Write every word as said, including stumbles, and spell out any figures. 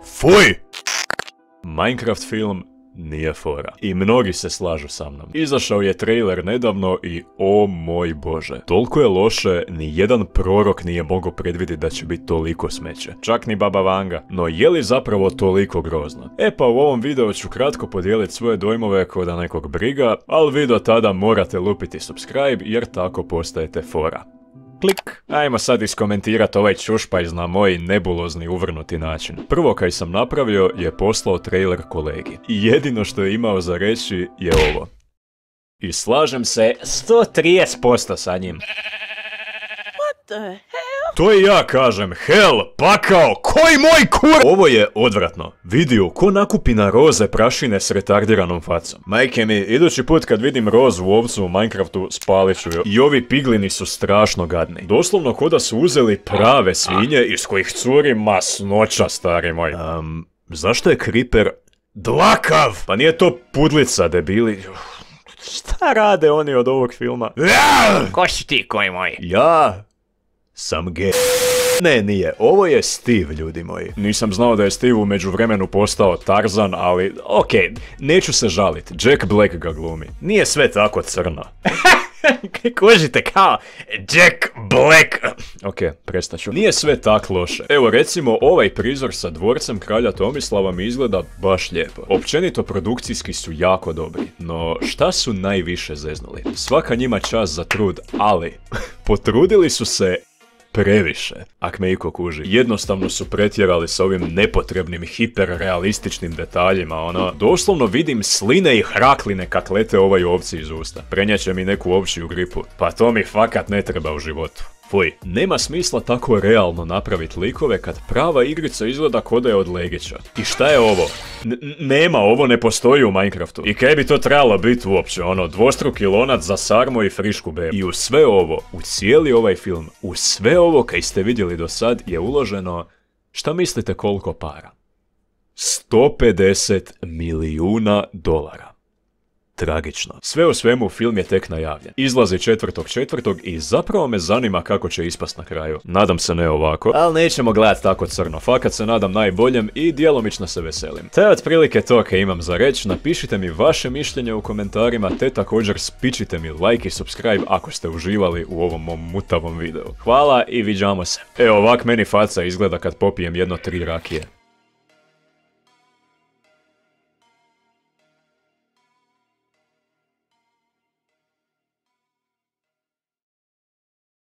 Fuj! Minecraft film nije fora. I mnogi se slažu sa mnom. Izašao je trailer nedavno i o moj bože. Toliko je loše, ni jedan prorok nije mogao predvidjeti da će biti toliko smeće. Čak ni Baba Vanga. No je li zapravo toliko grozno? E pa u ovom videu ću kratko podijeliti svoje dojmove ko da nekog briga, ali vi do tada morate lupiti subscribe jer tako postajete fora. Klik. Ajmo sad iskomentirat ovaj čušpajz na moj nebulozni uvrnuti način. Prvo kaj sam napravio je poslao trailer kolegi. I jedino što je imao za reći je ovo. I slažem se sto trideset posto sa njim. What the hell? To i ja kažem, hell, pakao, koji moj kur... Ovo je odvratno. Vidio ko nakupi na roze prašine s retardiranom facom. Majke mi, idući put kad vidim rozu u ovcu u Minecraftu, spalit ću ju. I ovi piglini su strašno gadni. Doslovno ko da su uzeli prave svinje iz kojih curi masnoća, stari moj. Um, zašto je Creeper dlakav? Pa nije to pudlica, debili. Šta rade oni od ovog filma? Ko si ti, koji moj? Ja... sam gay. Ne, nije. Ovo je Steve, ljudi moji. Nisam znao da je Steve u međuvremenu postao Tarzan, ali... okej, okay, neću se žalit. Jack Black ga glumi. Nije sve tako crno. Kužite kao Jack Black. Ok, prestaću. Nije sve tak loše. Evo recimo ovaj prizor sa dvorcem kralja Tomislava mi izgleda baš lijepo. Općenito produkcijski su jako dobri. No šta su najviše zeznuli? Svaka njima čast za trud, ali potrudili su se previše, ak me iko kuži. Jednostavno su pretjerali s ovim nepotrebnim hiperrealističnim detaljima, ono, doslovno vidim sline i hrakline kak lete ovoj ovci iz usta. Prenjače mi neku ovčiju gripu. Pa to mi fakat ne treba u životu. Fuj, nema smisla tako realno napraviti likove kad prava igrica izgleda ko da je od Legića. I šta je ovo? N nema, ovo ne postoji u Minecraftu. I kaj bi to trebalo biti uopće, ono, dvostruki lonac za sarmo i frišku bebu. I u sve ovo, u cijeli ovaj film, u sve ovo kaj ste vidjeli do sad je uloženo, šta mislite koliko para? sto pedeset milijuna dolara. Tragično. Sve u svemu film je tek najavljen. Izlazi četvrtog četvrtog i zapravo me zanima kako će ispast na kraju. Nadam se ne ovako, ali nećemo gledat tako crno. Fakat se nadam najboljem i djelomično se veselim. Te otprilike to kaj imam za reći. Napišite mi vaše mišljenje u komentarima te također spičite mi like i subscribe ako ste uživali u ovom mom mutavom videu. Hvala i viđamo se. Evo ovak meni faca izgleda kad popijem jedno tri rakije.